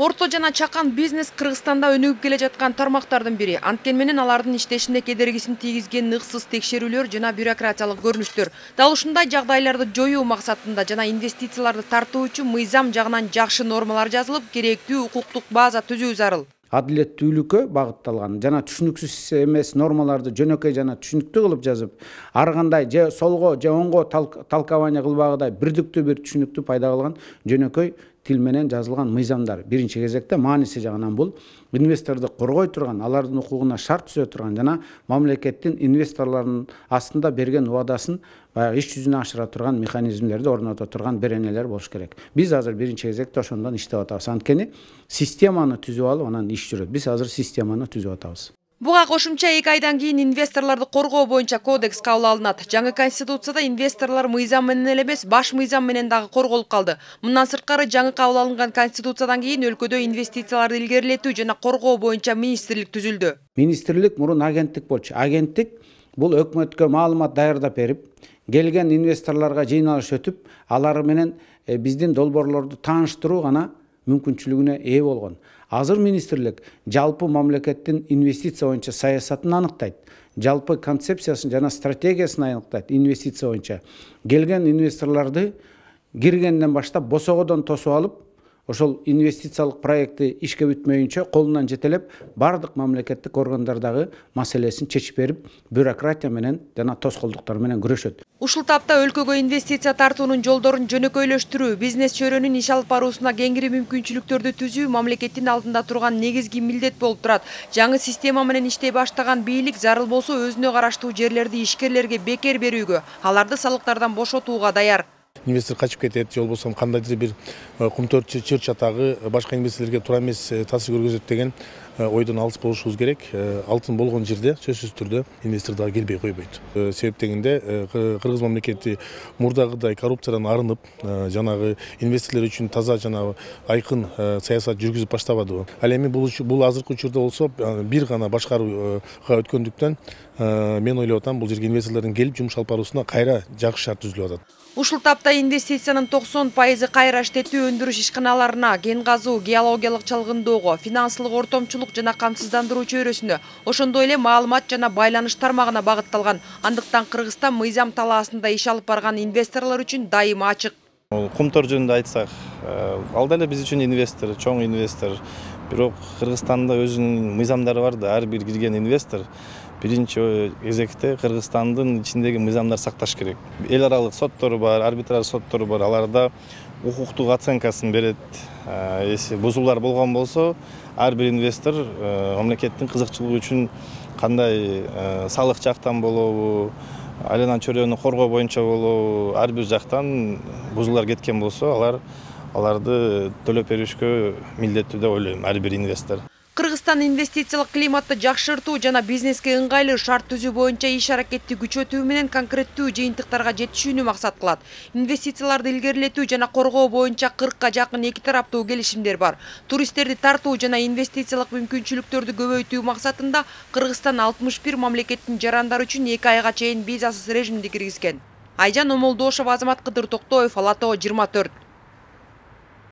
Орто жана чакан бизнес Кыргызстанда өнүгүп келе жаткан тармактардын бири. Анткени менен алардын иштешинде кедергисин тийгизген ыксыз текшерүүлөр жана бюрократиялык көрүнүштөр. Дал ушундай жагдайларды жоюу максатында жана инвестицияларды тартуу үчүн мыйзам жагынан жакшы нормалар жазылып, керектүү укуктук база түзүү зарыл. Адилеттүүлүккө багытталган жана түшүнүксүз эмес нормаларды жөнөкөй жана түшүнүктүү кылып жазып, ар кандай же солго же оңго талкабаания кылбагыдай бирдиктүү бир түшүнүктүү пайда кылган жөнөкөй тил менен жазылган мыйзамдар. Биринчи кезекте мааниси жагынан бул инвесторду коргой турган, алардын укугуна шарт түзө турган жана мамлекеттин инвесторлордун астында берген убадасын баягы иш жүзүнө ашыра турган механизмдерди орното турган беренелер болуш керек. Биз азыр биринчи кезекте ошондон иштеп атабыз. Анткени системаны түзүп алып, анан иш жүрөт. Биз азыр системаны түзүп атабыз. Буга кошумча 2 айдан кийин инвесторлорду коргоо боюнча кодекс кабыл алынат. Жаңы конституцияда инвесторлор мыйзам менен эле эмес, баш мыйзам менен дагы корголуп калды. Мындан сырткары жаңы кабыл алынган конституциядан кийин өлкөдө инвестицияларды илгерилетүү жана коргоо боюнча министрлик түзүлдү. Министрлик мурун агенттик болчу. Агенттик бул өкмөткө маалымат даярдап берип, келген инвесторлорго жыйналыш өтүп, алар менен биздин долбоорлорду тааныштыруу гана мүмкүнчүлүгүнө ээ болгон. Азыр министрлик жалпы мамлекеттин инвестиция боюнча саясатын аныктайт, жалпы концепциясын жана стратегиясын аныктайт. Инвестиция боюнча келген инвесторлорду киргенден баштап босогодон тосуп алып, ошол инвестициялык проекти ишке бүтмөйүнчө колунан жетелеп, бардык мамлекеттик органдардагы маселесин чечип берип, бюрократия менен жана тоскоолдуктар менен күрөшөт. Ушул тапта өлкөгө инвестиция тартуунун жолдорун жөнөкөйлөштүрүү, бизнес чөйрөнүн иш алып баруусуна кеңири мүмкүнчүлүктөрдү түзүү мамлекеттин алдында турган негизги милдет болуп турат. Жаңы система менен иштей баштаган бийлик зарыл болсо өзүнө караштуу жерлерди ишкерлерге бекер берүүгө, аларды салыктардан бошотууга даяр. Инвестор качып кетет, же болбосо кандайдыр бир кумтөр чыр чатагы башка инвесторлорго туура эмес таасир көргөзөт деген ойдон алыс болушубуз керек. Алтын болгон жерде сөзсүз түрдө инвестор дагы келбей койбойт. Себеп дегенде Кыргыз мамлекети мурдагыдай коррупциядан арынып, жанагы инвесторлор үчүн таза жана айкын саясат жүргүзүп баштабадыбы. Ал эми бул азыркы учурда болсо бир гана башкарууга өткөндүктөн мен ойлоп атам, бул жерге инвесторлордун келип жумуш алып баруусуна кайра жакшы шарт түзүлүп атат. Ушул тапта инвестициянын 90% кайра иштетүү өндүрүш ишканаларына, кен казуу, геологиялык чалгындоого, финансылык ортомчулук жана камсыздандыруу чөйрөсүнө, ошондой эле маалымат жана байланыш тармагына багытталган. Андыктан Кыргызстан мыйзам талаасында иш алып барган инвесторлор үчүн дайыма ачык. Кумтор жөнүндө айтсак, ал деле биз үчүн инвестор, чоң инвестор. Бирок Кыргызстанда өзүнүн мыйзамдары бар да, ар бир кирген инвестор биринчи кезекте Кыргызстандын ичиндеги мыйзамдар сакташ керек. Эл аралык соттору бар, арбитраж соттору бар, аларда укуктук оценкасын берет. Если бузуулар болгон болсо, ар бир инвестор мамлекеттин кызыкчылыгы үчүн кандай салык жактан болобу, айлана чөйрөнү коргоо боюнча болобу, ар бир жактан бузуулар кеткен болсо, аларды төлөп беришкө милдеттүү деп ойлойм ар бир инвестор. Кыргызстан инвестициялык климатты жакшыртуу жана бизнеске ыңгайлуу шарт түзүү боюнча иш аракетти күчөтүү менен конкреттүү жыйынтыктарга жетишүүнү максат кылат. Инвестицияларды илгерилетүү жана коргоо боюнча 40ка жакын эки тараптуу келишимдер бар. Туристтерди тартуу жана инвестициялык мүмкүнчүлүктөрдү көбөйтүү максатында Кыргызстан 61 мамлекеттин жарандары үчүн 2 айга чейин визасыз режимди киргизген. Айжан Омолдошова, Азамат Кыдыр Токтоев, Ала Тоо 24.